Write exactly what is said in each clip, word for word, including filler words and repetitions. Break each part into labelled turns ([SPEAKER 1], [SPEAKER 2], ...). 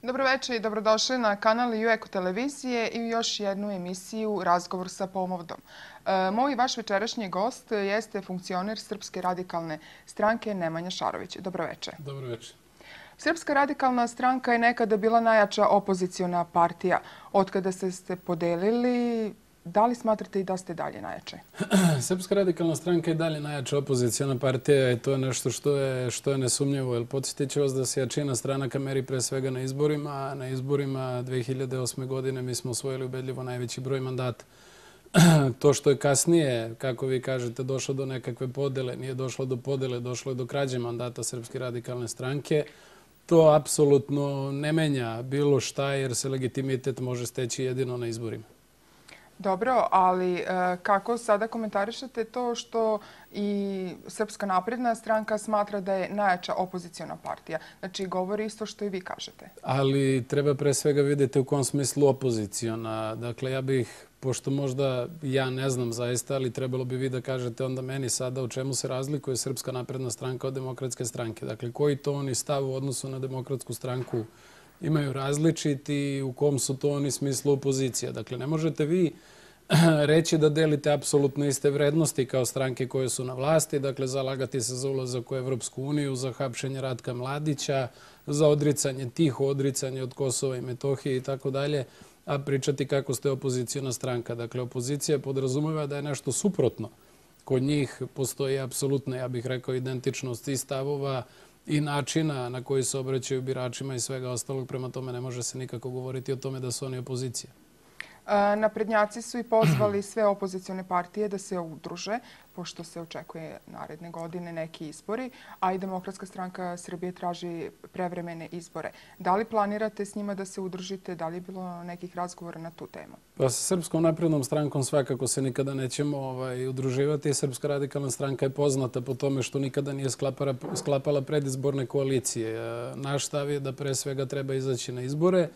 [SPEAKER 1] Dobroveče i dobrodošli na kanal Eko televizije i još jednu emisiju Razgovor sa pomladom. Moj i vaš večerašnji gost jeste funkcioner Srpske radikalne stranke Nemanja Šarović. Dobroveče.
[SPEAKER 2] Dobroveče.
[SPEAKER 1] Srpska radikalna stranka je nekada bila najjača opoziciona partija. Otkada ste se podelili, da li smatrate i da ste dalje najjače?
[SPEAKER 2] Srpska radikalna stranka je dalje najjača opoziciona partija i to je nešto što je, što je nesumnjivo. Jer podsjetit ću vas da se jačina stranaka meri pre svega na izborima, a na izborima dve hiljade osme. godine mi smo osvojili ubedljivo najveći broj mandata. To što je kasnije, kako vi kažete, došlo do nekakve podele, nije došlo do podele, došlo je do krađe mandata Srpske radikalne stranke, to apsolutno ne menja bilo šta jer se legitimitet može steći jedino na izborima.
[SPEAKER 1] Dobro, ali kako sada komentarišete to što i Srpska napredna stranka smatra da je najjača opoziciona partija? Znači, govori isto što i vi kažete.
[SPEAKER 2] Ali treba pre svega vidjeti u kom smislu opoziciona. Dakle, ja bih, pošto možda ja ne znam zaista, ali trebalo bi vi da kažete onda meni sada u čemu se razlikuje Srpska napredna stranka od Demokratske stranke. Dakle, koji to oni stav u odnosu na Demokratsku stranku imaju različiti i u kom su to oni smislu opozicija. Dakle, ne možete vi reći da delite apsolutno iste vrednosti kao stranke koje su na vlasti, dakle, zalagati se za ulazak u Evropsku uniju, za hapšenje Ratka Mladića, za odricanje, tiho odricanje od Kosova i Metohije i tako dalje, a pričati kako ste opozicijona stranka. Dakle, opozicija podrazumeva da je nešto suprotno. Kod njih postoji apsolutno, ja bih rekao, identičnost i stavova i načina na koji se obraćaju biračima i svega ostalog. Prema tome ne može se nikako govoriti o tome da su oni opozicija.
[SPEAKER 1] Naprednjaci su i pozvali sve opozicione partije da se udruže, pošto se očekuje naredne godine neki izbori, a i Demokratska stranka Srbije traži prevremene izbore. Da li planirate s njima da se udružite? Da li je bilo nekih razgovora na tu temu?
[SPEAKER 2] Pa sa Srpskom naprednom strankom svakako se nikada nećemo udruživati. Srpska radikalna stranka je poznata po tome što nikada nije sklapala predizborne koalicije. Naš stav je da pre svega treba izaći na izbore,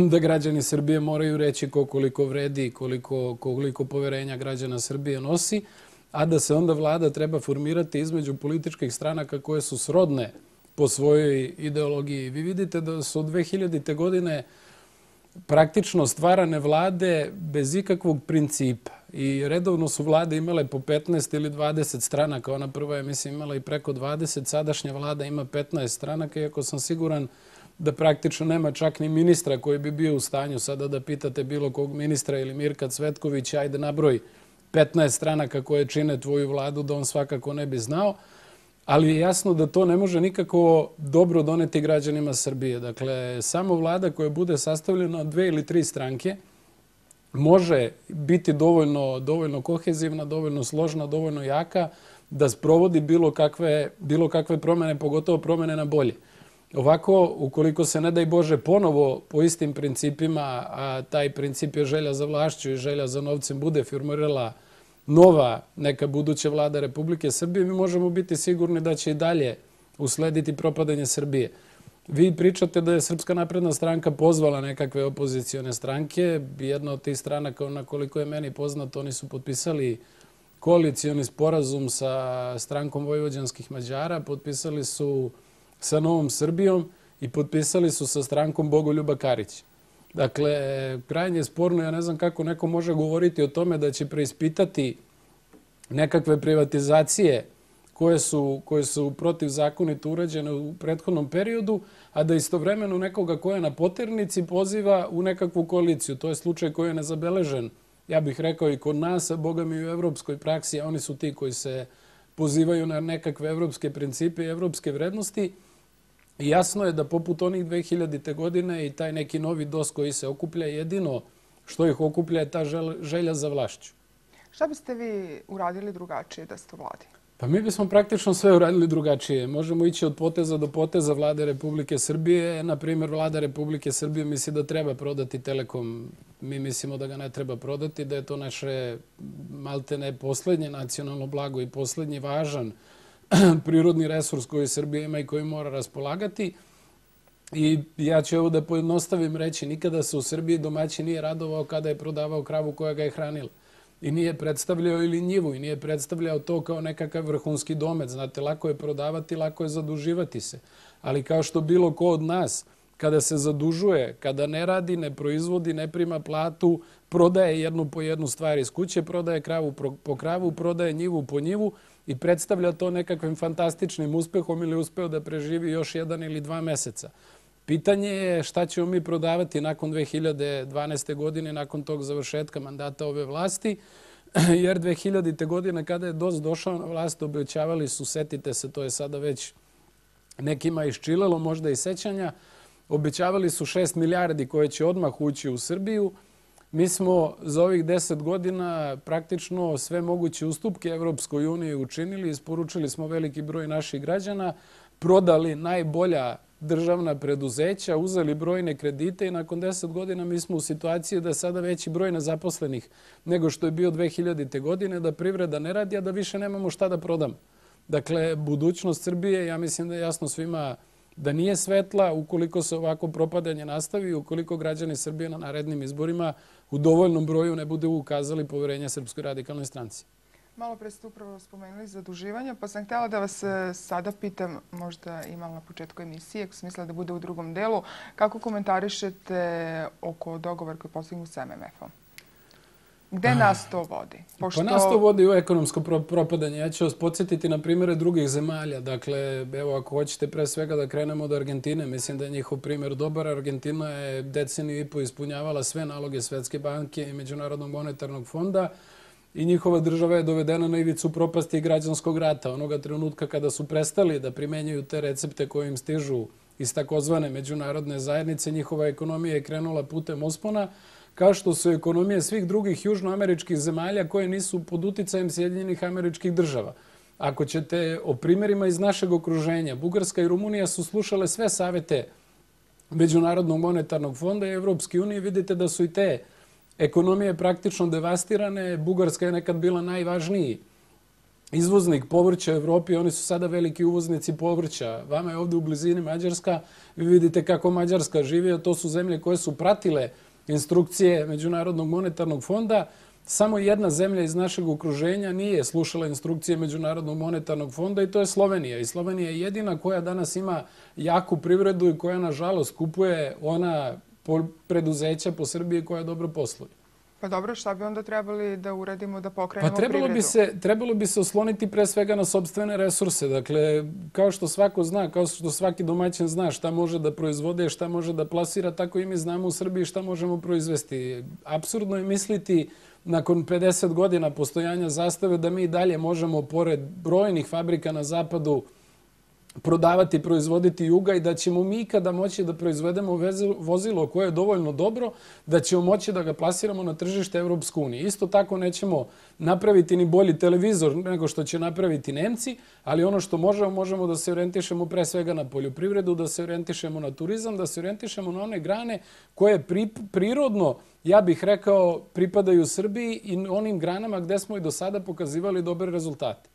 [SPEAKER 2] da građani Srbije moraju reći koliko vredi, koliko, koliko poverenja građana Srbije nosi, a da se onda vlada treba formirati između političkih stranaka koje su srodne po svojoj ideologiji. Vi vidite da su od dve hiljadite. godine praktično stvarane vlade bez ikakvog principa i redovno su vlade imale po petnaest ili dvadeset stranaka. Ona prva je, mislim, imala i preko dvadeset, sadašnja vlada ima petnaest stranaka, iako sam siguran da praktično nema čak ni ministra koji bi bio u stanju sada da pitate bilo kog ministra ili Mirka Cvetkovića, ajde nabroj petnaest stranaka koje čine tvoju vladu, da on svakako ne bi znao. Ali je jasno da to ne može nikako dobro doneti građanima Srbije. Dakle, samo vlada koja bude sastavljena od dve ili tri stranke može biti dovoljno, dovoljno kohezivna, dovoljno složna, dovoljno jaka da sprovodi bilo kakve, bilo kakve promene, pogotovo promene na bolje. Ovako, ukoliko se, ne daj Bože, ponovo po istim principima, a taj princip je želja za vlašću i želja za novcem, bude formirala nova neka buduća vlada Republike Srbije, mi možemo biti sigurni da će i dalje uslediti propadanje Srbije. Vi pričate da je Srpska napredna stranka pozvala nekakve opozicione stranke. Jedna od tih stranaka, na koliko je meni poznato, oni su potpisali koalicioni sporazum sa strankom vojvođanskih Mađara, potpisali su sa Novom Srbijom i potpisali su sa strankom Bogoljuba Karića. Dakle, krajnje je sporno, ja ne znam kako neko može govoriti o tome da će preispitati nekakve privatizacije koje su, koje su protivzakonito urađene u prethodnom periodu, a da istovremeno nekoga ko je na poternici poziva u nekakvu koaliciju. To je slučaj koji je nezabeležen, ja bih rekao, i kod nas, a boga mi u evropskoj praksi, a oni su ti koji se pozivaju na nekakve evropske principe i evropske vrednosti. I jasno je da poput onih dve hiljadite. godine i taj neki novi dos koji se okuplja, jedino što ih okuplja je ta želja za vlašću.
[SPEAKER 1] Šta biste vi uradili drugačije da ste u vladi?
[SPEAKER 2] Pa mi bismo praktično sve uradili drugačije. Možemo ići od poteza do poteza vlade Republike Srbije. Naprimjer, vlada Republike Srbije misli da treba prodati Telekom. Mi mislimo da ga ne treba prodati, da je to naše maltene poslednje nacionalno blago i poslednji važan prirodni resurs koji Srbija ima i koji mora raspolagati. I ja ću ovo da pojednostavim reći, nikada se u Srbiji domaćin nije radovao kada je prodavao kravu koja ga je hranila. I nije predstavljao ili njivu, i nije predstavljao to kao nekakav vrhunski domet. Znate, lako je prodavati, lako je zaduživati se. Ali kao što bilo ko od nas, kada se zadužuje, kada ne radi, ne proizvodi, ne prima platu, prodaje jednu po jednu stvar iz kuće, prodaje kravu po kravu, prodaje njivu po njivu i predstavlja to nekakvim fantastičnim uspehom ili uspeo da preživi još jedan ili dva meseca. Pitanje je šta ćemo mi prodavati nakon dve hiljade dvanaeste. godine, nakon tog završetka mandata ove vlasti, jer dve hiljadite. godine kada je D O S došao na vlast, obećavali su, setite se, to je sada već nekima iščilelo, možda i sećanja, obećavali su šest milijardi koje će odmah ući u Srbiju. Mi smo za ovih deset godina praktično sve moguće ustupke Evropskoj uniji učinili, isporučili smo veliki broj naših građana, prodali najbolja državna preduzeća, uzeli brojne kredite i nakon deset godina mi smo u situaciji da je sada veći broj nezaposlenih nego što je bio dve hiljadite. godine, da privreda ne radi, a da više nemamo šta da prodamo. Dakle, budućnost Srbije, ja mislim da je jasno svima da nije svetla ukoliko se ovako propadanje nastavi i ukoliko građani Srbije na narednim izborima u dovoljnom broju ne budu ukazali poverenje Srpskoj radikalnoj stranci.
[SPEAKER 1] Malo pre ste upravo spomenuli zaduživanje, pa sam htjela da vas sada pitam, možda imala na početku emisije, ako sam mislila da bude u drugom delu, kako komentarišete oko dogovora koji je postignut s M M F-om? Gde nas to vodi?
[SPEAKER 2] Pa nas to vodi u ekonomsko propadanje. Ja ću vas podsjetiti na primjere drugih zemalja. Dakle, evo, ako hoćete pre svega da krenemo od Argentine, mislim da je njihov primjer dobar. Argentina je deceniju i po ispunjavala sve naloge Svetske banke i Međunarodnog monetarnog fonda i njihova država je dovedena na ivicu propasti i građanskog rata. Onoga trenutka kada su prestali da primenjuju te recepte koje im stižu iz takozvane međunarodne zajednice, njihova ekonomija je krenula putem uspona, kao što su ekonomije svih drugih južnoameričkih zemalja koje nisu pod uticajem Sjedinjenih Američkih Država. Ako ćete o primjerima iz našeg okruženja, Bugarska i Rumunija su slušale sve savete Međunarodnog monetarnog fonda i Evropske unije, vidite da su i te ekonomije praktično devastirane. Bugarska je nekad bila najvažniji izvoznik povrća u Evropi, oni su sada veliki uvoznici povrća. Vama je ovdje u blizini Mađarska, vi vidite kako Mađarska živi, a to su zemlje koje su pratile instrukcije Međunarodnog monetarnog fonda. Samo jedna zemlja iz našeg okruženja nije slušala instrukcije Međunarodnog monetarnog fonda i to je Slovenija. I Slovenija je jedina koja danas ima jaku privredu i koja, nažalost, kupuje ona preduzeća po Srbiji koja dobro posluje.
[SPEAKER 1] Pa dobro, šta bi onda trebali da uradimo da pokrenemo
[SPEAKER 2] pa trebalo
[SPEAKER 1] privredu?
[SPEAKER 2] Bi se, trebalo bi se osloniti pre svega na sopstvene resurse. Dakle, kao što svako zna, kao što svaki domaćin zna šta može da proizvode, šta može da plasira, tako i mi znamo u Srbiji šta možemo proizvesti. Apsurdno je misliti nakon pedeset godina postojanja Zastave da mi dalje možemo, pored brojnih fabrika na zapadu, prodavati, proizvoditi juga i da ćemo mi ikada moći da proizvedemo vozilo koje je dovoljno dobro, da ćemo moći da ga plasiramo na tržište Evropske unije. Isto tako nećemo napraviti ni bolji televizor nego što će napraviti Nemci, ali ono što možemo, možemo da se orijentišemo pre svega na poljoprivredu, da se orijentišemo na turizam, da se orijentišemo na one grane koje prirodno, ja bih rekao, pripadaju Srbiji i onim granama gde smo i do sada pokazivali dobre rezultate.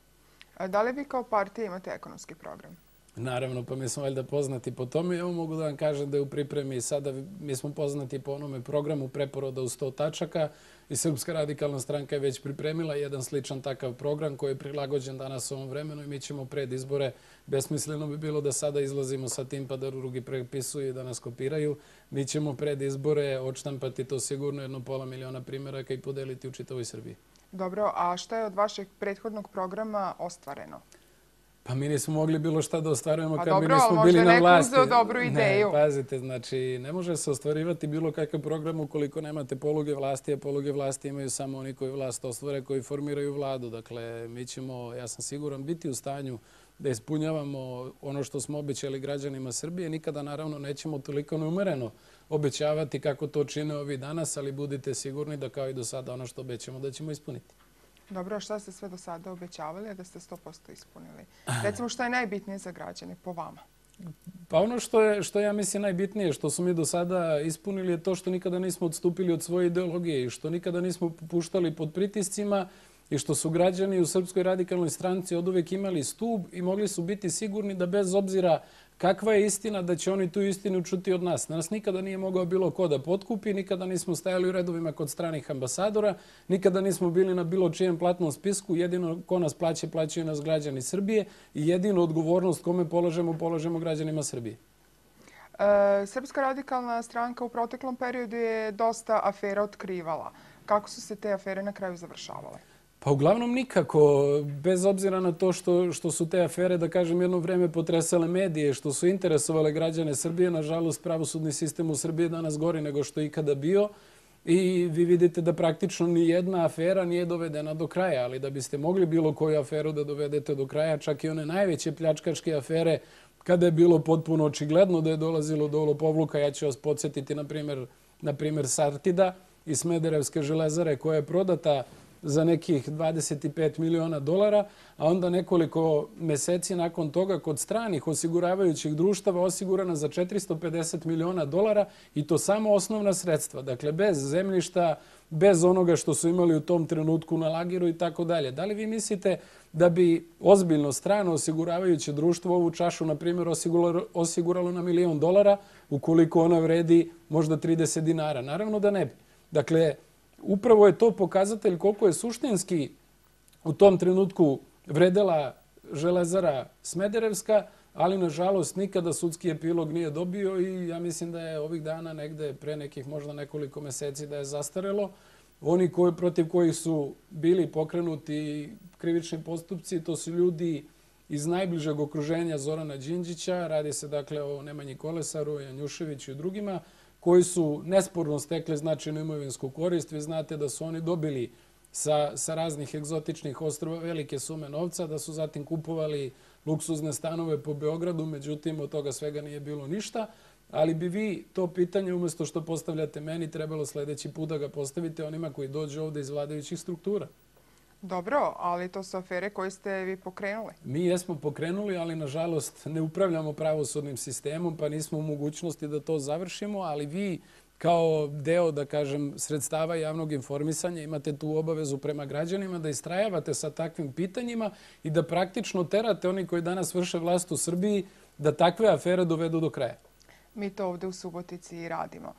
[SPEAKER 1] A da li vi kao partija imate ekonomski program?
[SPEAKER 2] Naravno, pa mi smo valjda poznati po tome. Evo mogu da vam kažem da je u pripremi sada, mi smo poznati po onome programu preporoda u sto tačaka i Srpska radikalna stranka je već pripremila jedan sličan takav program koji je prilagođen danas ovom vremenu i mi ćemo pred izbore, besmisleno bi bilo da sada izlazimo sa tim pa da drugi prepisuju i da nas kopiraju. Mi ćemo pred izbore odštampati to sigurno jedno pola miliona primjeraka i podeliti u čitavoj Srbiji.
[SPEAKER 1] Dobro, a šta je od vašeg prethodnog programa ostvareno?
[SPEAKER 2] Pa mi nismo mogli bilo šta da ostvarujemo kad mi nismo bili na vlasti. Pa dobro, ali možda
[SPEAKER 1] neko uzeo dobru ideju.
[SPEAKER 2] Ne, pazite, znači ne može se ostvarivati bilo kakav program ukoliko nemate poluge vlasti, a poluge vlasti imaju samo oni koji vlast ostvare, koji formiraju vladu. Dakle, mi ćemo, ja sam siguran, biti u stanju da ispunjavamo ono što smo obećali građanima Srbije. Nikada, naravno, nećemo toliko neumereno obećavati kako to čine ovi danas, ali budite sigurni da kao i do sada ono što obećamo da ćemo ispuniti.
[SPEAKER 1] Dobro, a šta ste sve do sada obećavali, a da ste sto posto ispunili? Recimo, šta je najbitnije za građane po vama?
[SPEAKER 2] Pa ono što je, što ja mislim najbitnije, što smo mi do sada ispunili, je to što nikada nismo odstupili od svoje ideologije i što nikada nismo popuštali pod pritiscima i što su građani u Srpskoj radikalnoj stranci oduvek imali stub i mogli su biti sigurni da bez obzira kakva je istina, da će oni tu istinu čuti od nas. Nas nikada nije mogao bilo ko da potkupi, nikada nismo stajali u redovima kod stranih ambasadora, nikada nismo bili na bilo čijem platnom spisku, jedino ko nas plaće, plaćaju nas građani Srbije i jedinu odgovornost kome polažemo, polažemo građanima Srbije.
[SPEAKER 1] Srpska radikalna stranka u proteklom periodu je dosta afera otkrivala. Kako su se te afere na kraju završavale?
[SPEAKER 2] Pa uglavnom nikako, bez obzira na to što, što su te afere, da kažem, jedno vreme potresale medije, što su interesovale građane Srbije. Nažalost, pravosudni sistem u Srbiji danas gori nego što je ikada bio. I vi vidite da praktično ni jedna afera nije dovedena do kraja, ali da biste mogli bilo koju aferu da dovedete do kraja, čak i one najveće pljačkaške afere, kada je bilo potpuno očigledno da je dolazilo do lopovluka, ja ću vas podsjetiti na primjer, na primjer Sartida i Smederevske železare koja je prodata za nekih dvadeset pet miliona dolara, a onda nekoliko meseci nakon toga kod stranih osiguravajućih društava osigurana za četiristo pedeset miliona dolara i to samo osnovna sredstva. Dakle, bez zemljišta, bez onoga što su imali u tom trenutku na lagiru i tako dalje. Da li vi mislite da bi ozbiljno strano osiguravajuće društvo ovu čašu, na primjer, osiguralo na milion dolara ukoliko ona vredi možda trideset dinara? Naravno da ne bi. Dakle, upravo je to pokazatelj koliko je suštinski u tom trenutku vredela železara Smederevska, ali nažalost nikada sudski epilog nije dobio i ja mislim da je ovih dana negde pre nekih možda nekoliko meseci da je zastarelo. Oni koji, protiv kojih su bili pokrenuti krivični postupci, to su ljudi iz najbližeg okruženja Zorana Đinđića, radi se dakle o Nemanji Kolesaru, Janjuševiću i drugima, koji su nesporno stekli značajnu imovinsku korist. Vi znate da su oni dobili sa, sa raznih egzotičnih ostrva velike sume novca, da su zatim kupovali luksuzne stanove po Beogradu, međutim od toga svega nije bilo ništa. Ali bi vi to pitanje, umjesto što postavljate meni, trebalo sljedeći put da ga postavite onima koji dođu ovdje iz vladajućih struktura.
[SPEAKER 1] Dobro, ali to su afere koje ste vi pokrenuli.
[SPEAKER 2] Mi jesmo pokrenuli, ali nažalost ne upravljamo pravosudnim sistemom, pa nismo u mogućnosti da to završimo, ali vi kao deo, da kažem, sredstava javnog informisanja imate tu obavezu prema građanima da istrajavate sa takvim pitanjima i da praktično terate oni koji danas vrše vlast u Srbiji da takve afere dovedu do kraja.
[SPEAKER 1] Mi to ovdje u Subotici i radimo.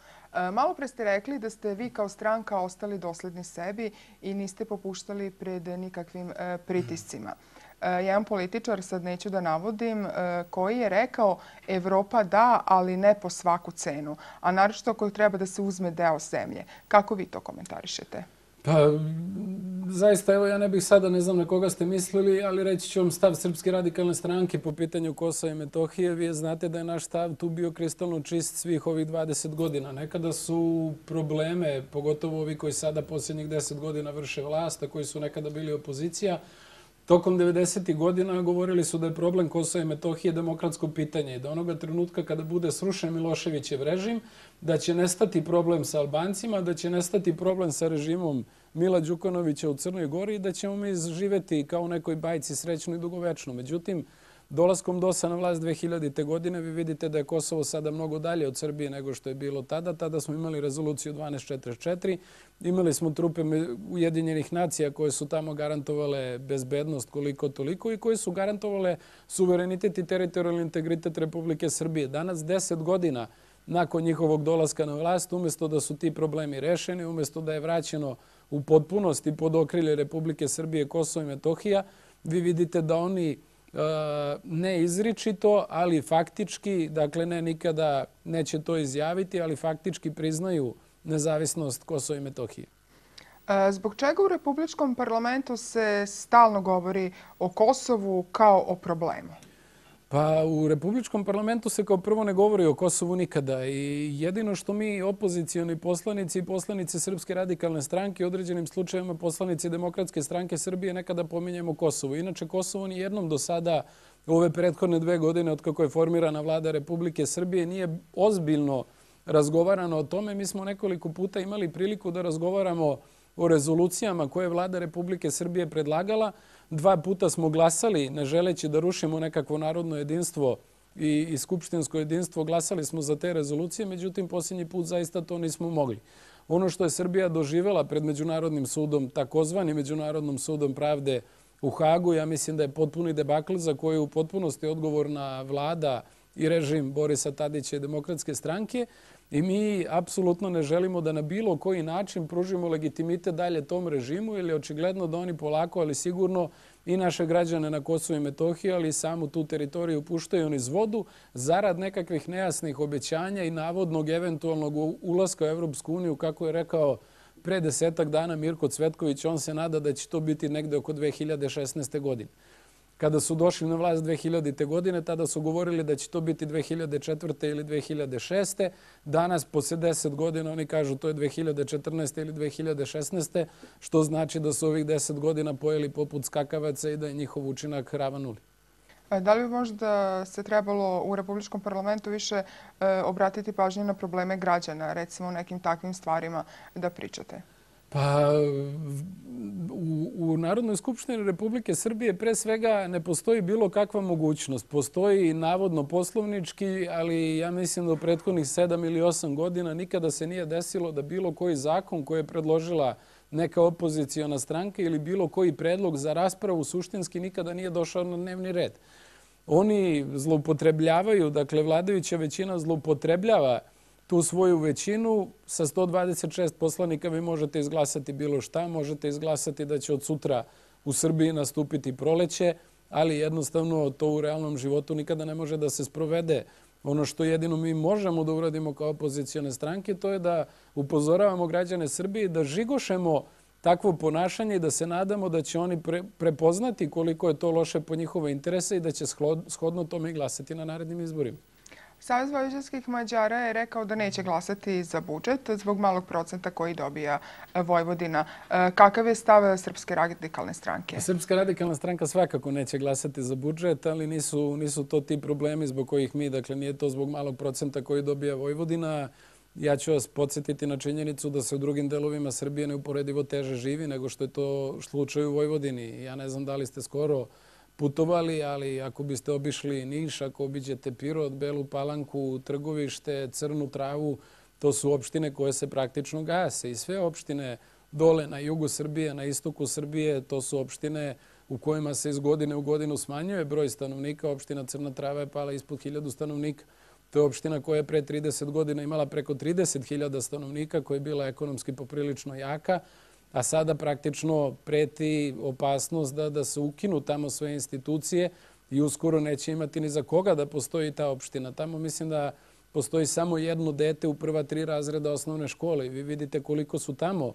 [SPEAKER 1] Malo pre ste rekli da ste vi kao stranka ostali dosledni sebi i niste popuštali pred nikakvim pritiscima. Jedan političar, sad neću da navodim, koji je rekao Evropa da, ali ne po svaku cenu, a naročito ako treba da se uzme deo zemlje. Kako vi to komentarišete?
[SPEAKER 2] Pa, zaista, evo, ja ne bih sada, ne znam na koga ste mislili, ali reći ću vam stav Srpske radikalne stranke po pitanju Kosova i Metohije. Vi znate da je naš stav tu bio kristalno čist svih ovih dvadeset godina. Nekada su probleme, pogotovo ovi koji sada posljednjih deset godina vrše vlast, a koji su nekada bili opozicija, tokom devedesetih godina govorili su da je problem Kosova i Metohije demokratsko pitanje i da onoga trenutka kada bude srušen Miloševićev režim, da će nestati problem sa Albancima, da će nestati problem sa režimom Mila Đukanovića u Crnoj Gori i da ćemo mi živeti kao u nekoj bajci srećno i dugovečno. Međutim, dolaskom DOS-a na vlast dve hiljadite. godine vi vidite da je Kosovo sada mnogo dalje od Srbije nego što je bilo tada. Tada smo imali rezoluciju dvanaest četrdeset četiri. Imali smo trupe Ujedinjenih nacija koje su tamo garantovale bezbednost koliko toliko i koje su garantovale suverenitet i teritorijalni integritet Republike Srbije. Danas, deset godina nakon njihovog dolaska na vlast, umjesto da su ti problemi rešeni, umjesto da je vraćeno u potpunosti pod okrilje Republike Srbije Kosovo i Metohija, vi vidite da oni ne izričito, ali faktički, dakle ne nikada neće to izjaviti, ali faktički priznaju nezavisnost Kosova i Metohije.
[SPEAKER 1] Zbog čega u Republičkom parlamentu se stalno govori o Kosovu kao o problemu?
[SPEAKER 2] Pa u Republičkom parlamentu se kao prvo ne govori o Kosovu nikada i jedino što mi opozicijoni poslanici i poslanici Srpske radikalne stranke, određenim slučajevima poslanici Demokratske stranke Srbije nekada pominjemo Kosovo. Inače, Kosovo ni jednom do sada u ove prethodne dve godine od kako je formirana vlada Republike Srbije nije ozbiljno razgovarano o tome. Mi smo nekoliko puta imali priliku da razgovaramo o rezolucijama koje je vlada Republike Srbije predlagala. Dva puta smo glasali, ne želeći da rušimo nekakvo narodno jedinstvo i, i skupštinsko jedinstvo, glasali smo za te rezolucije, međutim, posljednji put zaista to nismo mogli. Ono što je Srbija doživjela pred Međunarodnim sudom, takozvani Međunarodnom sudom pravde u Hagu, ja mislim da je potpuni debakl za koju u potpunosti odgovorna vlada i režim Borisa Tadića i Demokratske stranke. I mi apsolutno ne želimo da na bilo koji način pružimo legitimitet dalje tom režimu, ili očigledno da oni polako, ali sigurno i naše građane na Kosovu i Metohiji, ali i samu tu teritoriju puštaju niz vodu zarad nekakvih nejasnih obećanja i navodnog eventualnog ulaska u Evropsku uniju, kako je rekao pre desetak dana Mirko Cvetković. On se nada da će to biti negde oko dve hiljade šesnaeste. godine. Kada su došli na vlast dve hiljadite. godine, tada su govorili da će to biti dve hiljade četvrte. ili dve hiljade šeste. Danas, posle deset godina, oni kažu to je dve hiljade četrnaeste. ili dve hiljade šesnaeste. što znači da su ovih deset godina pojeli poput skakavaca i da je njihov učinak ravan nuli.
[SPEAKER 1] Da li bi možda se trebalo u Republičkom parlamentu više obratiti pažnju na probleme građana, recimo o nekim takvim stvarima da pričate?
[SPEAKER 2] Pa u, u Narodnoj skupštini Republike Srbije pre svega ne postoji bilo kakva mogućnost. Postoji navodno poslovnički, ali ja mislim da u prethodnih sedam ili osam godina nikada se nije desilo da bilo koji zakon koji je predložila neka opoziciona stranka ili bilo koji predlog za raspravu suštinski nikada nije došao na dnevni red. Oni zloupotrebljavaju, dakle vladajuća većina zloupotrebljava tu svoju većinu. Sa sto dvadeset šest poslanika vi možete izglasati bilo šta, možete izglasati da će od sutra u Srbiji nastupiti proleće, ali jednostavno to u realnom životu nikada ne može da se sprovede. Ono što jedino mi možemo da uradimo kao opozicione stranke, to je da upozoravamo građane Srbije da žigošemo takvo ponašanje i da se nadamo da će oni pre, prepoznati koliko je to loše po njihove interese i da će shodno tome i glasati na narednim izborima.
[SPEAKER 1] Savez vojvođanskih Mađara je rekao da neće glasati za budžet zbog malog procenta koji dobija Vojvodina. Kakav je stav Srpske radikalne stranke?
[SPEAKER 2] Srpska radikalna stranka svakako neće glasati za budžet, ali nisu, nisu to ti problemi zbog kojih mi, dakle nije to zbog malog procenta koji dobija Vojvodina. Ja ću vas podsjetiti na činjenicu da se u drugim delovima Srbije neuporedivo teže živi nego što je to slučaj u Vojvodini. Ja ne znam da li ste skoro putovali, ali ako biste obišli Niš, ako obiđete Pirot, Belu Palanku, Trgovište, Crnu Travu, to su opštine koje se praktično gase. I sve opštine dole na jugu Srbije, na istoku Srbije, to su opštine u kojima se iz godine u godinu smanjuje broj stanovnika. Opština Crna Trava je pala ispod hiljadu stanovnika. To je opština koja je pre trideset godina imala preko trideset hiljada stanovnika, koja je bila ekonomski poprilično jaka, a sada praktično preti opasnost da, da se ukinu tamo sve institucije i uskoro neće imati ni za koga da postoji ta opština. Tamo mislim da postoji samo jedno dete u prva tri razreda osnovne škole i vi vidite koliko su tamo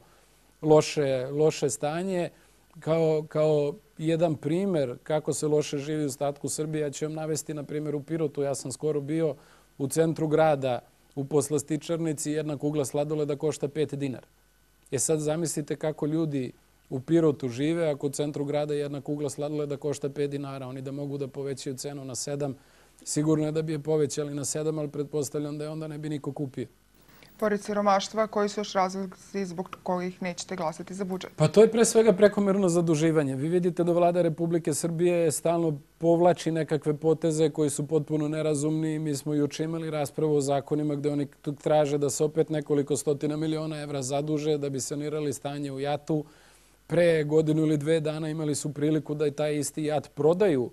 [SPEAKER 2] loše, loše stanje. Kao, kao jedan primer kako se loše živi u ostatku Srbije, ja ću vam navesti na primjer u Pirotu. Ja sam skoro bio u centru grada, u poslastičarnici, jedna kugla sladoleda košta pet dinara. E sad zamislite kako ljudi u Pirotu žive ako u centru grada jedna kugla sladoleda košta pet dinara. Oni da mogu da povećaju cenu na sedam, sigurno je da bi je povećali na sedam, ali pretpostavljam da je onda ne bi niko kupio.
[SPEAKER 1] Pored siromaštva, koji su još razlozi zbog kojih nećete glasati za budžet?
[SPEAKER 2] Pa to je pre svega prekomerno zaduživanje. Vi vidite da vlada Republike Srbije stalno povlači nekakve poteze koji su potpuno nerazumni. Mi smo juče imali raspravu o zakonima gde oni traže da se opet nekoliko stotina miliona evra zaduže da bi sanirali stanje u JAT-u. Pre godinu ili dve dana imali su priliku da i taj isti JAT prodaju,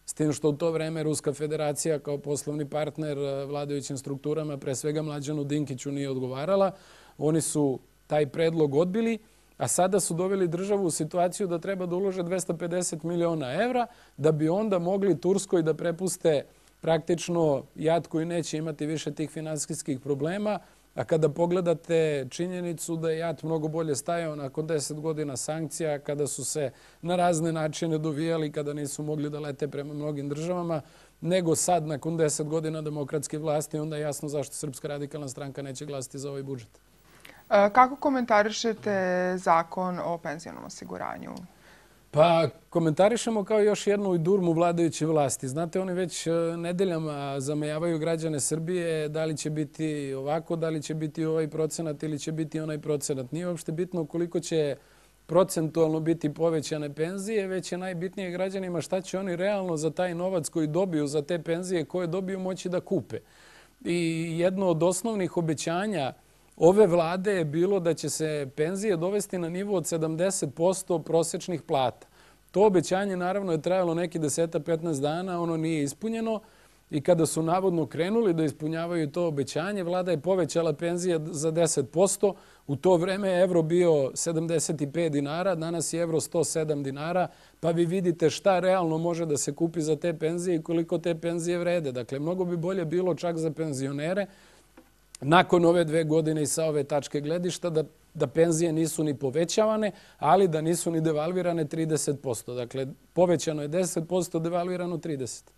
[SPEAKER 2] s tim što u to vreme Ruska federacija kao poslovni partner vladajućim strukturama, pre svega Mlađanu Dinkiću, nije odgovarala. Oni su taj predlog odbili, a sada su doveli državu u situaciju da treba da ulože dvesta pedeset miliona evra da bi onda mogli Turskoj da prepuste praktično JAT koji neće imati više tih finansijskih problema. A kada pogledate činjenicu da je JAT mnogo bolje stajao nakon deset godina sankcija, kada su se na razne načine dovijali, kada nisu mogli da lete prema mnogim državama, nego sad nakon deset godina demokratske vlasti, onda je jasno zašto Srpska radikalna stranka neće glasiti za ovaj budžet.
[SPEAKER 1] Kako komentarišete zakon o penzionom osiguranju?
[SPEAKER 2] Pa komentarišemo kao još jednu durmu vladajuće vlasti. Znate, oni već nedeljama zamejavaju građane Srbije da li će biti ovako, da li će biti ovaj procenat ili će biti onaj procenat. Nije uopšte bitno koliko će procentualno biti povećane penzije, već je najbitnije građanima šta će oni realno za taj novac koji dobiju za te penzije koje dobiju moći da kupe. I jedno od osnovnih obećanja ove vlade je bilo da će se penzije dovesti na nivo od sedamdeset posto prosečnih plata. To obećanje naravno je trajalo neki deset do petnaest dana, ono nije ispunjeno i kada su navodno krenuli da ispunjavaju to obećanje, vlada je povećala penzije za deset posto. U to vreme je evro bio sedamdeset pet dinara, danas je evro sto sedam dinara, pa vi vidite šta realno može da se kupi za te penzije i koliko te penzije vrede. Dakle, mnogo bi bolje bilo čak za penzionere nakon ove dve godine i sa ove tačke gledišta da, da penzije nisu ni povećavane, ali da nisu ni devalvirane trideset posto. Dakle, povećano je deset posto, devalvirano trideset posto.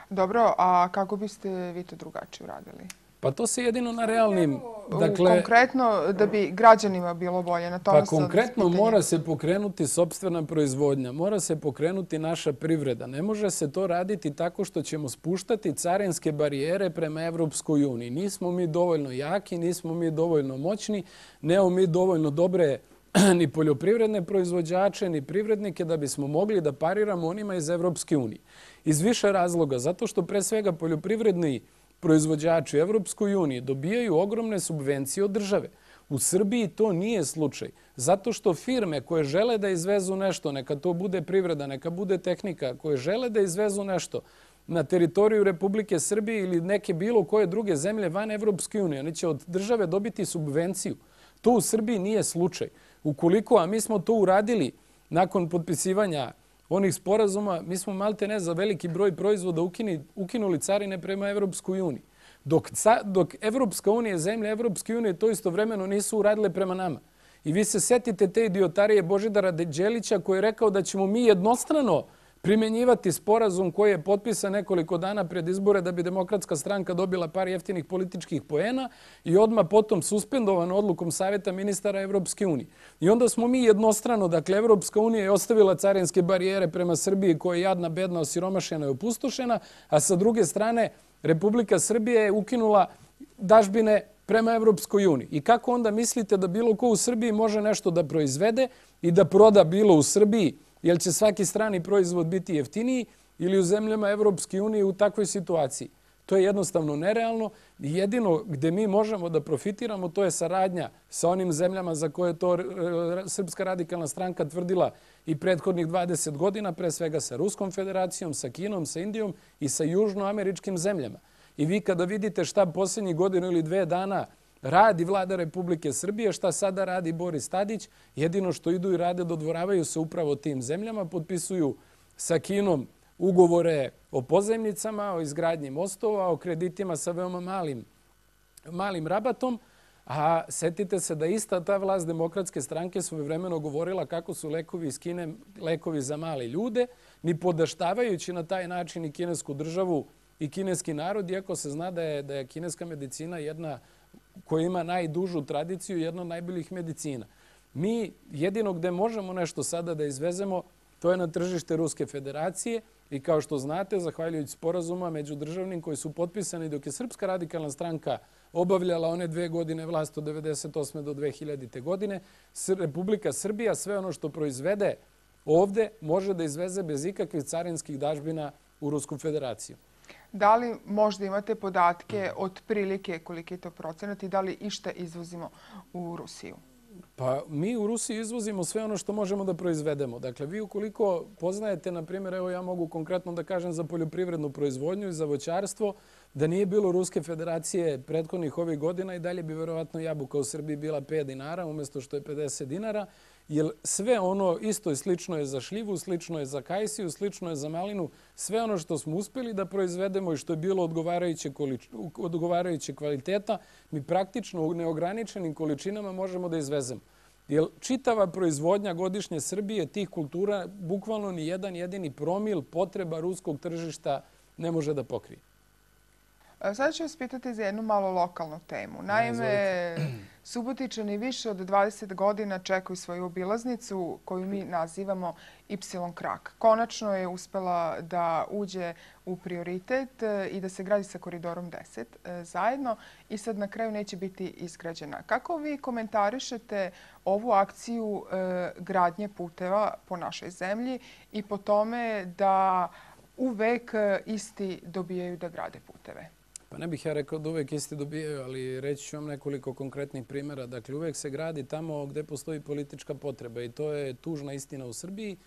[SPEAKER 1] Dobro, a kako biste vi to drugačije uradili?
[SPEAKER 2] Pa to se jedino na realnim...
[SPEAKER 1] Dakle, konkretno, da bi građanima bilo bolje na tome...
[SPEAKER 2] Pa konkretno mora se pokrenuti sopstvena proizvodnja, mora se pokrenuti naša privreda. Ne može se to raditi tako što ćemo spuštati carinske barijere prema Evropskoj uniji. Nismo mi dovoljno jaki, nismo mi dovoljno moćni, nemamo mi dovoljno dobre ni poljoprivredne proizvođače, ni privrednike da bismo mogli da pariramo onima iz Evropske unije. Iz više razloga, zato što pre svega poljoprivredni proizvođači u Evropskoj uniji dobijaju ogromne subvencije od države. U Srbiji to nije slučaj. Zato što firme koje žele da izvezu nešto, neka to bude privreda, neka bude tehnika, koje žele da izvezu nešto na teritoriju Republike Srbije ili neke bilo koje druge zemlje van Evropske unije, oni će od države dobiti subvenciju. To u Srbiji nije slučaj. Ukoliko, a mi smo to uradili nakon potpisivanja onih sporazuma, mi smo malte ne za veliki broj proizvoda ukini, ukinuli carine prema Evropskoj uniji. Dok, dok Evropska unija, zemlje Evropske unije to istovremeno nisu uradile prema nama. I vi se setite te idiotarije Božidara Đelića koji je rekao da ćemo mi jednostrano primenjivati sporazum koji je potpisan nekoliko dana pred izbore da bi Demokratska stranka dobila par jeftinih političkih poena i odmah potom suspendovan odlukom Savjeta ministara Evropske unije. I onda smo mi jednostrano, dakle, Evropska unija je ostavila carinske barijere prema Srbiji koja je jadna, bedna, osiromašena i opustošena, a sa druge strane Republika Srbije je ukinula dažbine prema Evropskoj uniji. I kako onda mislite da bilo ko u Srbiji može nešto da proizvede i da proda bilo u Srbiji, jer će svaki strani proizvod biti jeftiniji ili u zemljama Evropske unije u takvoj situaciji? To je jednostavno nerealno i jedino gde mi možemo da profitiramo to je saradnja sa onim zemljama za koje je to Srpska radikalna stranka tvrdila i prethodnih dvadeset godina, pre svega sa Ruskom federacijom, sa Kinom, sa Indijom i sa južnoameričkim zemljama. I vi kada vidite šta posljednjih godinu ili dve dana radi vlada Republike Srbije, šta sada radi Boris Tadić, jedino što idu i rade dodvoravaju se upravo tim zemljama, potpisuju sa Kinom ugovore o pozajmicama, o izgradnji mostova, o kreditima sa veoma malim, malim rabatom, a setite se da ista ta vlast Demokratske stranke svojevremeno govorila kako su lekovi iz Kine lekovi za male ljude, ni podaštavajući na taj način i kinesku državu i kineski narod, iako se zna da je, da je kineska medicina jedna koja ima najdužu tradiciju, jedna od najboljih medicina. Mi jedino gde možemo nešto sada da izvezemo, to je na tržište Ruske federacije i kao što znate, zahvaljujući sporazuma međudržavnim koji su potpisani dok je Srpska radikalna stranka obavljala one dve godine vlast od devedeset osme do dve hiljadite. godine, Republika Srbija sve ono što proizvede ovde može da izveze bez ikakvih carinskih dažbina u Rusku federaciju.
[SPEAKER 1] Da li možda imate podatke od prilike koliki je to procenat i da li išta izvozimo u Rusiju?
[SPEAKER 2] Pa mi u Rusiji izvozimo sve ono što možemo da proizvedemo. Dakle, vi ukoliko poznajete, na primjer, evo ja mogu konkretno da kažem za poljoprivrednu proizvodnju i za voćarstvo, da nije bilo Ruske federacije prethodnih ovih godina i dalje bi verovatno jabuka u Srbiji bila pet dinara umjesto što je pedeset dinara, jer sve ono isto i slično je za šljivu, slično je za kajsiju, slično je za malinu, sve ono što smo uspjeli da proizvedemo i što je bilo odgovarajuće, odgovarajuće kvaliteta, mi praktično u neograničenim količinama možemo da izvezemo. Jer čitava proizvodnja godišnje Srbije tih kultura, bukvalno ni jedan jedini promil potreba ruskog tržišta ne može da pokrije.
[SPEAKER 1] Sada ću vas pitati za jednu malo lokalnu temu. Naime, Subotičani više od dvadeset godina čekaju svoju obilaznicu koju mi nazivamo Y krak. Konačno je uspela da uđe u prioritet i da se gradi sa koridorom deset zajedno i sad na kraju neće biti izgrađena. Kako vi komentarišete ovu akciju gradnje puteva po našoj zemlji i po tome da uvek isti dobijaju da grade puteve?
[SPEAKER 2] Pa ne bih ja rekao da uvek isti dobijaju, ali reći ću vam nekoliko konkretnih primjera. Dakle, uvek se gradi tamo gde postoji politička potreba i to je tužna istina u Srbiji.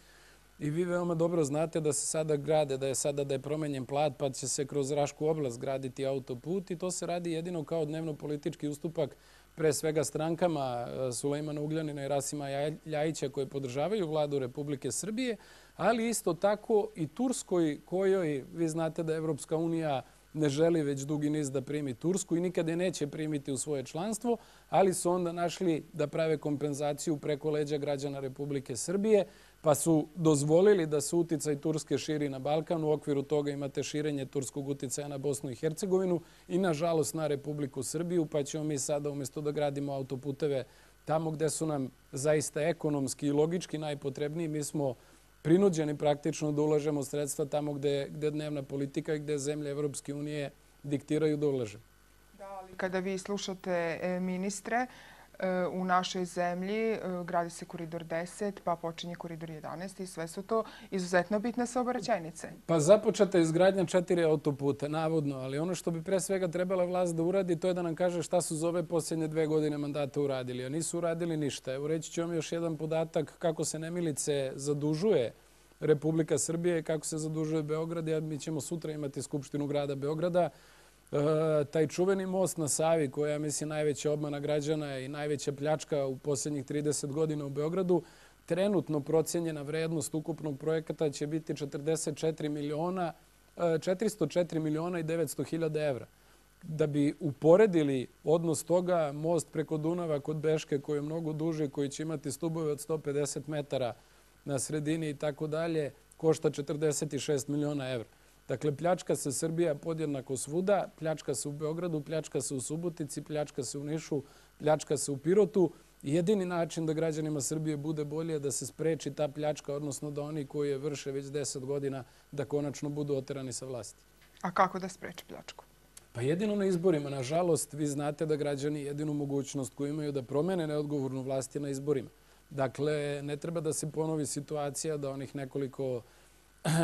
[SPEAKER 2] I vi veoma dobro znate da se sada grade, da je sada da je promenjen plat, pa će se kroz Rašku oblast graditi autoput i to se radi jedino kao dnevno politički ustupak pre svega strankama Sulejmana Ugljanina i Rasima Ljajića koje podržavaju vladu Republike Srbije, ali isto tako i Turskoj kojoj, vi znate da Evropska unija ne želi već dugi niz da primi Tursku i nikada je neće primiti u svoje članstvo, ali su onda našli da prave kompenzaciju preko leđa građana Republike Srbije, pa su dozvolili da se uticaj Turske širi na Balkan. U okviru toga imate širenje turskog uticaja na Bosnu i Hercegovinu i, nažalost, na Republiku Srbiju, pa ćemo mi sada, umjesto da gradimo autoputeve tamo gde su nam zaista ekonomski i logički najpotrebniji, mi smo prinuđeni praktično da ulažemo sredstva tamo gde, gde dnevna politika i gde zemlje Evropske unije diktiraju da ulaže.
[SPEAKER 1] Da, ali kada vi slušate ministre, u našoj zemlji gradi se koridor deset, pa počinje koridor jedanaest i sve su to izuzetno bitne saobraćajnice.
[SPEAKER 2] Pa započeta je izgradnja četiri autoputa, navodno, ali ono što bi pre svega trebala vlast da uradi, to je da nam kaže šta su za ove posljednje dve godine mandata uradili, a nisu uradili ništa. Evo reći ću vam još jedan podatak kako se nemilice zadužuje Republika Srbije i kako se zadužuje Beograd. Ja, mi ćemo sutra imati Skupštinu grada Beograda. E, taj čuveni most na Savi, koja je, mislim, najveća obmana građana i najveća pljačka u posljednjih trideset godina u Beogradu, trenutno procijenjena vrednost ukupnog projekata će biti četrdeset četiri miliona, četiristo četiri miliona i devetsto hiljada evra. Da bi uporedili odnos toga, most preko Dunava kod Beške, koji je mnogo duži, koji će imati stubove od sto pedeset metara na sredini i tako dalje, košta četrdeset šest miliona evra. Dakle, pljačka se Srbija podjednako svuda, pljačka se u Beogradu, pljačka se u Subotici, pljačka se u Nišu, pljačka se u Pirotu. Jedini način da građanima Srbije bude bolje je da se spreči ta pljačka, odnosno da oni koji je vrše već deset godina, da konačno budu oterani sa vlasti.
[SPEAKER 1] A kako da spreči pljačku?
[SPEAKER 2] Pa jedino na izborima. Nažalost, vi znate da građani jedinu mogućnost koju imaju da promene neodgovornu vlast je na izborima. Dakle, ne treba da se ponovi situacija da onih nekoliko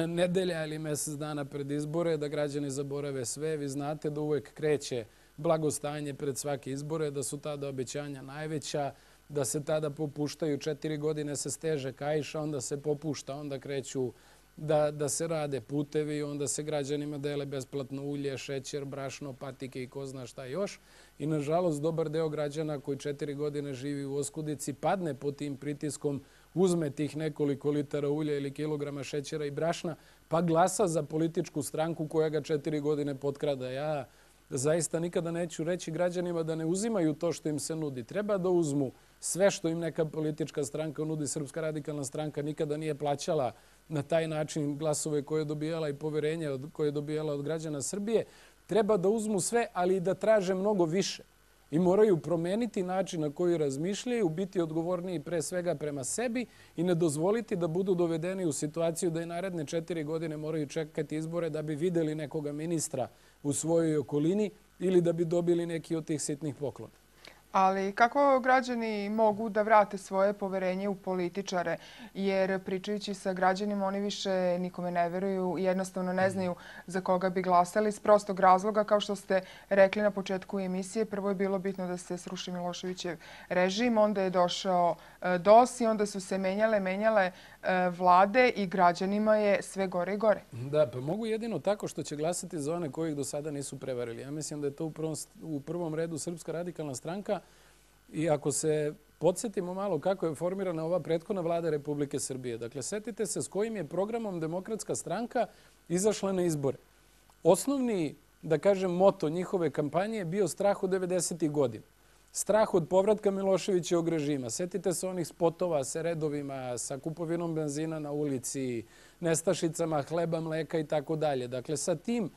[SPEAKER 2] nedelja ili mjesec dana pred izbore, da građani zaborave sve. Vi znate da uvek kreće blagostanje pred svake izbore, da su tada obećanja najveća, da se tada popuštaju, četiri godine se steže kaiša, onda se popušta, onda kreću da, da se rade putevi, onda se građanima dele besplatno ulje, šećer, brašno, patike i ko zna šta još. I nažalost, dobar deo građana koji četiri godine živi u oskudici padne pod tim pritiskom, uzme tih nekoliko litara ulja ili kilograma šećera i brašna, pa glasa za političku stranku koja ga četiri godine potkrada. Ja zaista nikada neću reći građanima da ne uzimaju to što im se nudi. Treba da uzmu sve što im neka politička stranka nudi. Srpska radikalna stranka nikada nije plaćala na taj način glasove koje je dobijala i poverenje koje je dobijala od građana Srbije. Treba da uzmu sve, ali i da traže mnogo više. I moraju promeniti način na koji razmišljaju, biti odgovorniji pre svega prema sebi i ne dozvoliti da budu dovedeni u situaciju da i naredne četiri godine moraju čekati izbore da bi videli nekoga ministra u svojoj okolini ili da bi dobili neki od tih sitnih poklona.
[SPEAKER 1] Ali kako građani mogu da vrate svoje poverenje u političare? Jer pričajući sa građanima, oni više nikome ne veruju i jednostavno ne znaju za koga bi glasali iz prostog razloga. Kao što ste rekli na početku emisije, prvo je bilo bitno da se sruši Miloševićev režim, onda je došao D O S i onda su se menjale, menjale vlade i građanima je sve gore i gore.
[SPEAKER 2] Da, pa mogu jedino tako što će glasati za one koji ih do sada nisu prevarili. Ja mislim da je to u prvom, u prvom redu Srpska radikalna stranka. I ako se podsjetimo malo kako je formirana ova prethodna vlada Republike Srbije. Dakle, setite se s kojim je programom Demokratska stranka izašla na izbore. Osnovni, da kažem, moto njihove kampanje je bio strah od devedesetih godina. Strah od povratka Miloševićevog režima. Setite se onih spotova sa redovima, sa kupovinom benzina na ulici, nestašicama hleba, mleka i tako dalje. Dakle, sa tim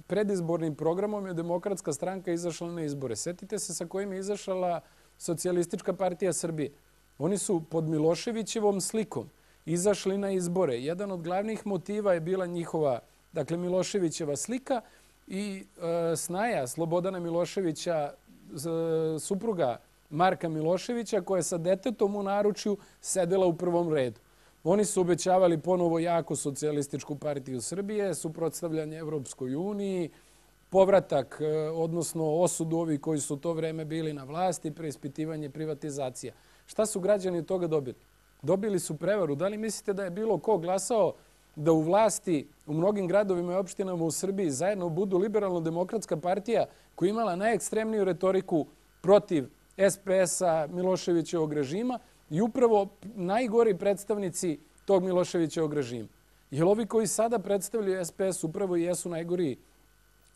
[SPEAKER 2] predizbornim programom je Demokratska stranka izašla na izbore. Setite se sa kojim je izašla Socijalistička partija Srbije. Oni su pod Miloševićevom slikom izašli na izbore. Jedan od glavnih motiva je bila njihova, dakle, Miloševićeva slika i e, snaja Slobodana Miloševića, supruga Marka Miloševića, koja je sa detetom u naručju sedela u prvom redu. Oni su obećavali ponovo jako Socijalističku partiju Srbije, suprotstavljanje Evropskoj uniji, povratak, odnosno osudu ovih koji su to vreme bili na vlasti, preispitivanje privatizacija. Šta su građani toga dobili? Dobili su prevaru. Da li mislite da je bilo ko glasao da u vlasti u mnogim gradovima i opštinama u Srbiji zajedno budu liberalno-demokratska partija koja je imala najekstremniju retoriku protiv es pe es-a Miloševićevog režima i upravo najgori predstavnici tog Miloševićevog režima. Jer ovi koji sada predstavljaju es pe es upravo i jesu najgori,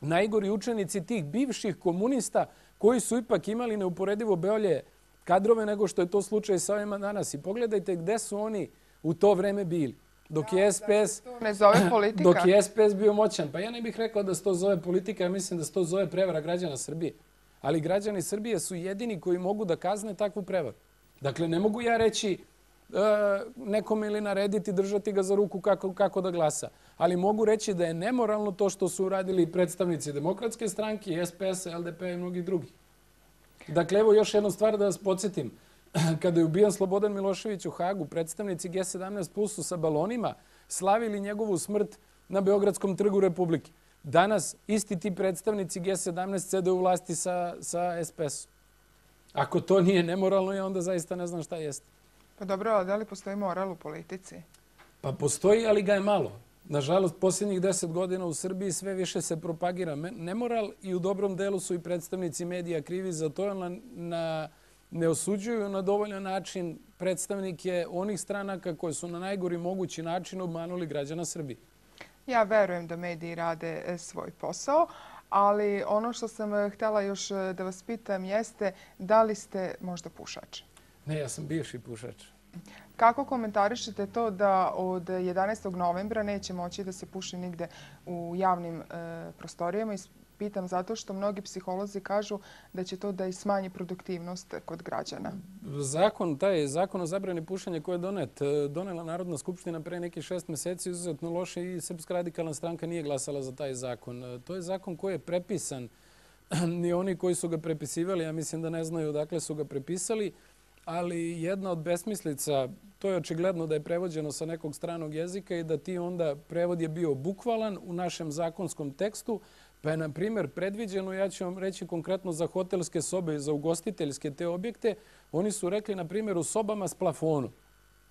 [SPEAKER 2] najgori učenici tih bivših komunista koji su ipak imali neuporedivo bolje kadrove nego što je to slučaj sa ovima danas. I pogledajte gde su oni u to vreme bili. Dok je es pe es,
[SPEAKER 1] ne zove politika.
[SPEAKER 2] Dok je es pe es bio moćan. Pa ja ne bih rekao da se to zove politika, ja mislim da se to zove prevara građana Srbije. Ali građani Srbije su jedini koji mogu da kazne takvu prevaru. Dakle, ne mogu ja reći e, nekome ili narediti, držati ga za ruku kako, kako da glasa. Ali mogu reći da je nemoralno to što su uradili predstavnici Demokratske stranke, es pe es, el de pe i mnogih drugih. Dakle, evo još jednu stvar da vas podsjetim. Kada je ubijan Slobodan Milošević u Hagu, predstavnici ge sedamnaest plus su sa balonima slavili njegovu smrt na Beogradskom trgu Republike. Danas isti ti predstavnici ge sedamnaest sede u vlasti sa, sa es pe esom. Ako to nije nemoralno, ja onda zaista ne znam šta jeste.
[SPEAKER 1] Pa dobro, ali da li postoji moral u politici?
[SPEAKER 2] Pa postoji, ali ga je malo. Nažalost, posljednjih deset godina u Srbiji sve više se propagira nemoral i u dobrom delu su i predstavnici medija krivi za to, na, na, ne osuđuju na dovoljan način predstavnike onih stranaka koje su na najgori mogući način obmanuli građana Srbije.
[SPEAKER 1] Ja verujem da mediji rade svoj posao, ali ono što sam htjela još da vas pitam jeste da li ste možda pušač?
[SPEAKER 2] Ne, ja sam bivši pušač.
[SPEAKER 1] Kako komentarišete to da od jedanaestog novembra neće moći da se puši nigde u javnim e, prostorijama? Pitam zato što mnogi psiholozi kažu da će to da i smanji produktivnost kod građana.
[SPEAKER 2] Zakon, taj zakon o zabrani pušenja koji je donet, donela Narodna skupština pre nekih šest meseci, izuzetno loše i Srpska radikalna stranka nije glasala za taj zakon. To je zakon koji je prepisan. Ni oni koji su ga prepisivali, ja mislim da ne znaju odakle su ga prepisali, ali jedna od besmislica, to je očigledno da je prevođeno sa nekog stranog jezika i da ti onda prevod je bio bukvalan u našem zakonskom tekstu, pa je, na primjer, predviđeno, ja ću vam reći konkretno za hotelske sobe i za ugostiteljske te objekte, oni su rekli, na primjer, u sobama s plafonom.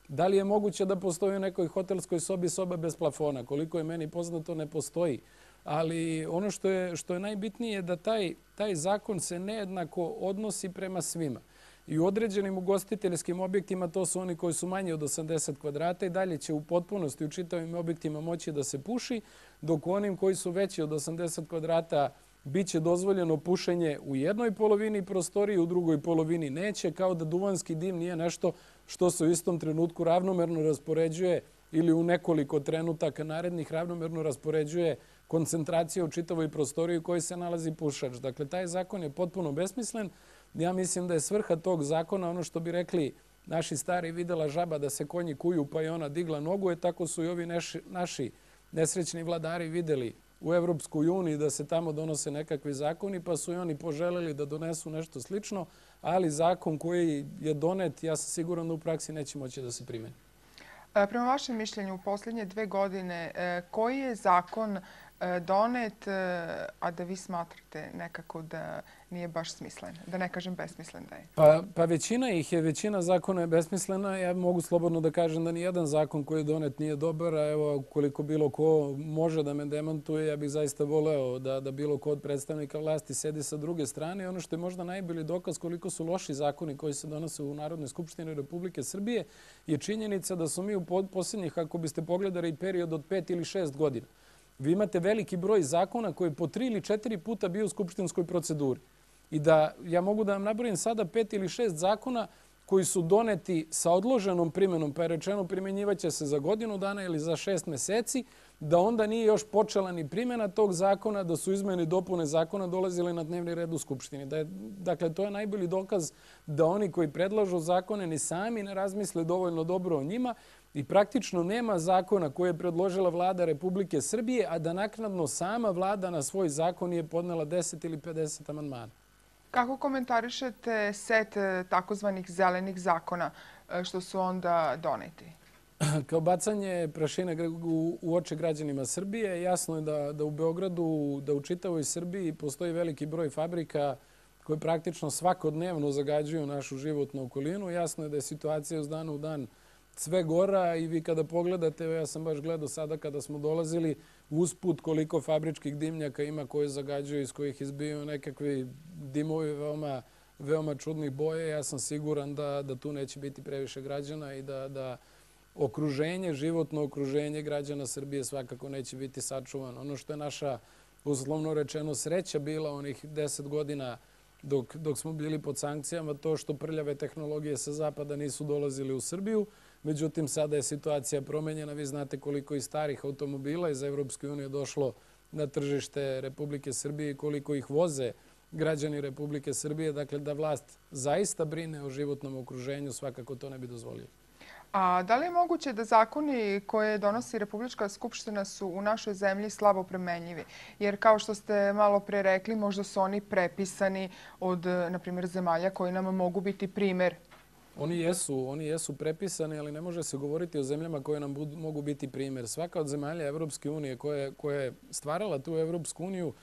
[SPEAKER 2] Da li je moguće da postoji u nekoj hotelskoj sobi soba bez plafona? Koliko je meni poznato, ne postoji. Ali ono što je, što je najbitnije je da taj, taj zakon se nejednako odnosi prema svima. I u određenim ugostiteljskim objektima, to su oni koji su manji od osamdeset kvadrata i dalje će u potpunosti u čitavim objektima moći da se puši, dok u onim koji su veći od osamdeset kvadrata bit će dozvoljeno pušenje u jednoj polovini prostorije, u drugoj polovini neće, kao da duvanski dim nije nešto što se u istom trenutku ravnomerno raspoređuje ili u nekoliko trenutaka narednih ravnomerno raspoređuje koncentracija u čitavoj prostoriji u kojoj se nalazi pušač. Dakle, taj zakon je potpuno besmislen. Ja mislim da je svrha tog zakona, ono što bi rekli naši stari, videla žaba da se konji kuju pa je ona digla nogu, je tako su i ovi naši, naši nesrećni vladari videli u Evropskoj uniji da se tamo donose nekakvi zakoni, pa su i oni poželjeli da donesu nešto slično, ali zakon koji je donet, ja sam siguran da u praksi neće moći da se primeni.
[SPEAKER 1] Prema vašem mišljenju, u posljednje dve godine, koji je zakon donet, a da vi smatrate nekako da nije baš smislen, da ne kažem besmislen da je?
[SPEAKER 2] Pa, pa većina ih je, većina zakona je besmislena. Ja mogu slobodno da kažem da nijedan zakon koji je donet nije dobar, a evo koliko bilo ko može da me demantuje, ja bih zaista voleo da, da bilo ko od predstavnika vlasti sedi sa druge strane. I ono što je možda najbolji dokaz koliko su loši zakoni koji se donose u Narodnoj skupštini Republike Srbije je činjenica da su mi u posljednjih, ako biste pogledali period od pet ili šest godina, vi imate veliki broj zakona koji po tri ili četiri puta bio u skupštinskoj proceduri. I da ja mogu da vam nabrojim sada pet ili šest zakona koji su doneti sa odloženom primjenom, pa je rečeno primjenjivaće se za godinu dana ili za šest meseci, da onda nije još počela ni primjena tog zakona, da su izmene i dopune zakona dolazile na dnevni red u Skupštini. Da je, dakle, to je najbolji dokaz da oni koji predlažu zakone ni sami ne razmisle dovoljno dobro o njima i praktično nema zakona koje je predložila vlada Republike Srbije, a da naknadno sama vlada na svoj zakon je podnela deset ili pedeset amandmana.
[SPEAKER 1] Kako komentarišete set takozvanih zelenih zakona što su onda doneti?
[SPEAKER 2] Kao bacanje prašine u oči građanima Srbije, jasno je da, da u Beogradu, da u čitavoj Srbiji postoji veliki broj fabrika koje praktično svakodnevno zagađuju našu životnu okolinu. Jasno je da je situacija iz dana u dan sve gora i vi kada pogledate, ja sam baš gledao sada kada smo dolazili, usput koliko fabričkih dimnjaka ima koji zagađuju, iz kojih izbijaju nekakvi dimovi veoma, veoma čudnih boje. Ja sam siguran da, da tu neće biti previše građana i da, da okruženje, životno okruženje građana Srbije svakako neće biti sačuvano. Ono što je naša, uslovno rečeno, sreća bila onih deset godina dok, dok smo bili pod sankcijama, to što prljave tehnologije sa zapada nisu dolazili u Srbiju. Međutim, sada je situacija promenjena. Vi znate koliko i starih automobila iz Evropske unije došlo na tržište Republike Srbije i koliko ih voze građani Republike Srbije. Dakle, da vlast zaista brine o životnom okruženju, svakako to ne bi dozvolio.
[SPEAKER 1] A da li je moguće da zakoni koje donosi Republička skupština su u našoj zemlji slabo primenjivi? Jer kao što ste malo pre rekli, možda su oni prepisani od, na primjer, zemalja koji nam mogu biti primer.
[SPEAKER 2] Oni jesu, oni jesu prepisani, ali ne može se govoriti o zemljama koje nam budu, mogu biti primjer. Svaka od zemalja Evropske unije koja, koja je stvarala tu Evropsku uniju,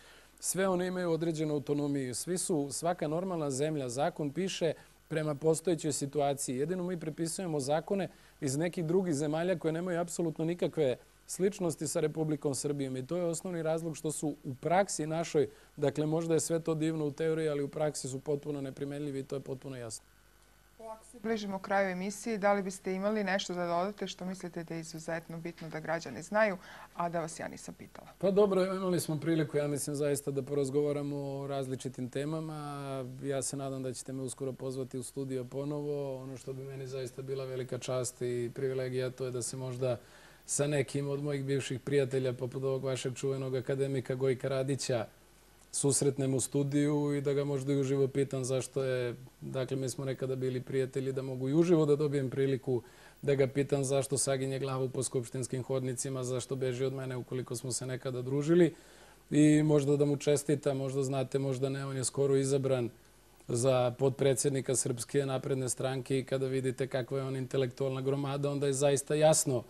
[SPEAKER 2] sve one imaju određenu autonomiju. Svi su, svaka normalna zemlja, zakon piše prema postojećoj situaciji. Jedino mi prepisujemo zakone iz nekih drugih zemalja koje nemaju apsolutno nikakve sličnosti sa Republikom Srbijom. I to je osnovni razlog što su u praksi našoj, dakle možda je sve to divno u teoriji, ali u praksi su potpuno neprimenljivi i to je potpuno jasno.
[SPEAKER 1] Polako se bližimo kraju emisije. Da li biste imali nešto da dodate što mislite da je izuzetno bitno da građani znaju, a da vas ja nisam pitala?
[SPEAKER 2] Pa dobro, imali smo priliku, ja mislim zaista da porazgovaramo o različitim temama. Ja se nadam da ćete me uskoro pozvati u studio ponovo. Ono što bi meni zaista bila velika čast i privilegija, to je da se možda sa nekim od mojih bivših prijatelja, poput ovog vašeg čuvenog akademika Gojka Radića, susretnem u studiju i da ga možda i uživo pitam zašto je, dakle mi smo nekada bili prijatelji, da mogu i uživo da dobijem priliku da ga pitam zašto saginje glavu po skupštinskim hodnicima, zašto beži od mene ukoliko smo se nekada družili i možda da mu čestitam, možda znate, možda ne, on je skoro izabran za potpredsjednika Srpske napredne stranke i kada vidite kakva je on intelektualna gromada, onda je zaista jasno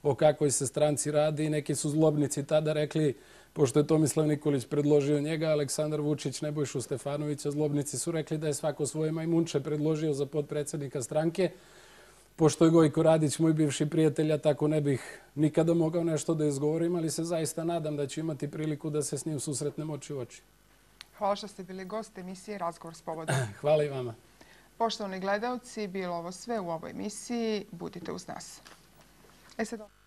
[SPEAKER 2] o kakvoj se stranci radi i neki su zlobnici tada rekli, pošto je Tomislav Nikolić predložio njega, Aleksandar Vučić, Nebojšu Stefanovića, zlobnici su rekli da je svako svoje majmunče predložio za potpredsjednika stranke. Pošto je Gojko Radić moj bivši prijatelj, ja tako ne bih nikada mogao nešto da izgovorim, ali se zaista nadam da ću imati priliku da se s njim susretnem oči u oči.
[SPEAKER 1] Hvala što ste bili gost emisije Razgovor s povodom.
[SPEAKER 2] Hvala i vama.
[SPEAKER 1] Poštovani gledalci, bilo ovo sve u ovoj emisiji. Budite uz nas. E sad...